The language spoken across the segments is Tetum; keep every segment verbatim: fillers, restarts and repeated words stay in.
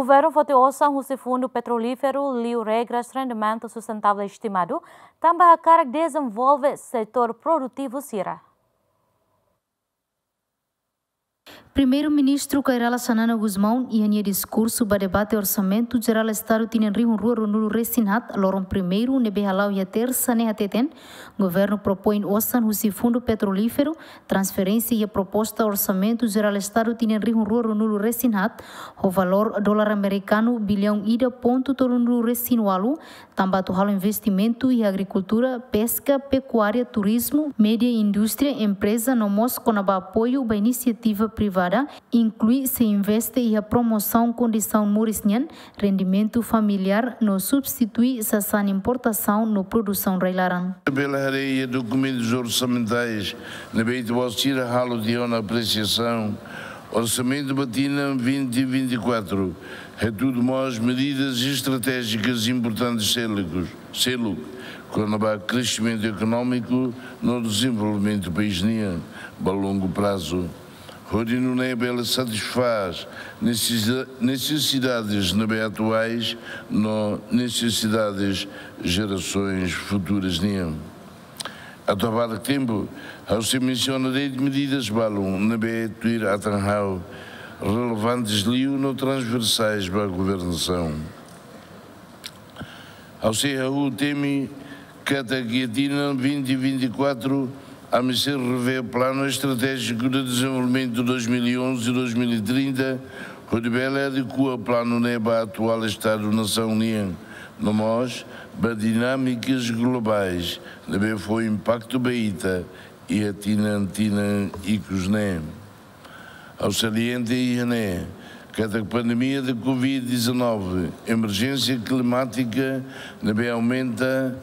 Governu foti osan husi Fundu Petrolíferu liu regras rendimentu sustentável estimadu, tanba hakarak dezenvolve setór produtivu sira. Primeiru-Ministru Kay Rala Xanana Gusmão iha nia diskursu ba debate Orsamentu Jerál Estadu tinan rihun rua ruanulu resin haat, loron primeiru ne'ebé hala'o iha tersa ne'e hateten, Governu propoin osan husi Fundu Petrolíferu, transferénsia iha proposta Orsamentu Jerál Estadu tinan rihun rua ruanulu resin haat, ho valór dolar amerikanu biliaun ida pontu tolunulu resin ualu, tanba atu halo investimentu iha agrikultura, peska, pekuária, turizmu, média, indústria, empreza, no mós kona-ba apoiu ba inisiativa privada, inklui sei investe iha promosaun kondisaun moris nian, rendimentu familiár, no substitui sasán importasaun no produsaun rai-laran. Bele haree iha dokumentus orsamentais ne'ebé ita-boot sira halo tiha ona apresiasaun, orsamentu ba tinan vinte vinte e quatro hetan mós medidas estratéjikas importantes seluk, seluk, kona-ba kresimentu ekonómiku no dezenvolvimentu país nian ba longu prazu, hodi nune'e bele satisfás nesesi-, nesesidades ne'ebé atuais no nesesidades jerasoens futuras nian. Atu abarak tempu, ha'u sei mensiona de'it medidas balun ne'ebé tuir atan ha'u relevantes liu no transversais ba governasaun. Ha'u sei hahú temi katak iha tinan vinte vinte e quatro, ami sei revee Planu Estratéjiku de Dezenvolvimentu dois mil e onze, dois mil e trinta, hodi bele adekua planu ne'e ba atuál estadu nasaun nian, no mós ba dinámikas globais ne'ebé fó impaktu ba ita iha tinan-tinan ikus ne'e. Ha'u salienta iha ne'e katak pandemia de covid dezanove, emerjénsia klimátika ne'ebé aumenta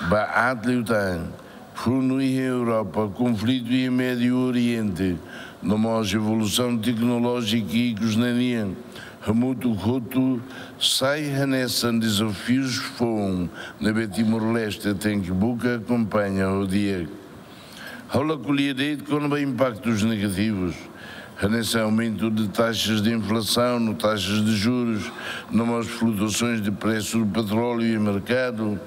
ba aat liután, funu iha Europa, konflitu iha Médiu Oriente, no mós evolusaun teknolójika ikus ne'e nian, hamutuk hotu sai hanesan dezafius foun ne'ebé Timor-Leste tenke buka akompaña ho di'ak. Ha'u la ko'alia de'it kona-ba impaktus negativus, hanesan aumentu de taxas de inflasaun no taxas de jurus, no mós flutuasoens de presu do petróleu iha merkadu,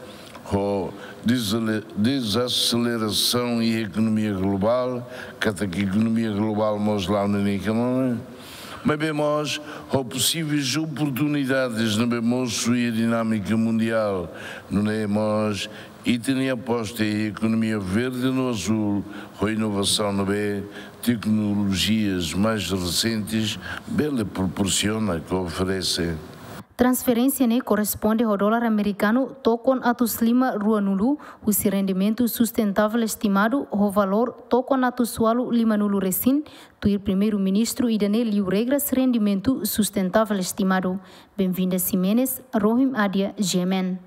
ho dezale-, dezaselerasaun iha ekonomia globál, katak ekonomia globál mós la'o ninia knaar, maibé mós ho posiveis oportunidades ne'ebé mosu iha dinámika mundiál, nune'e mós ita-nia aposta iha ekonomia verde no azúl, ho inovasaun ne'ebé teknolojias mais resentes bele proporsiona ka oferese. Transferénsia ne'e korresponde ho dolar amerikanu tokon atus lima ruanulu, husi rendimentu sustentável estimadu ho valór tokon atus ualu limanulu resin, tuir Primeiru-Ministru ida-ne'e liu regras rendimentu sustentável estimadu. Benvinda Ximenes, Rohim Adia, G M N.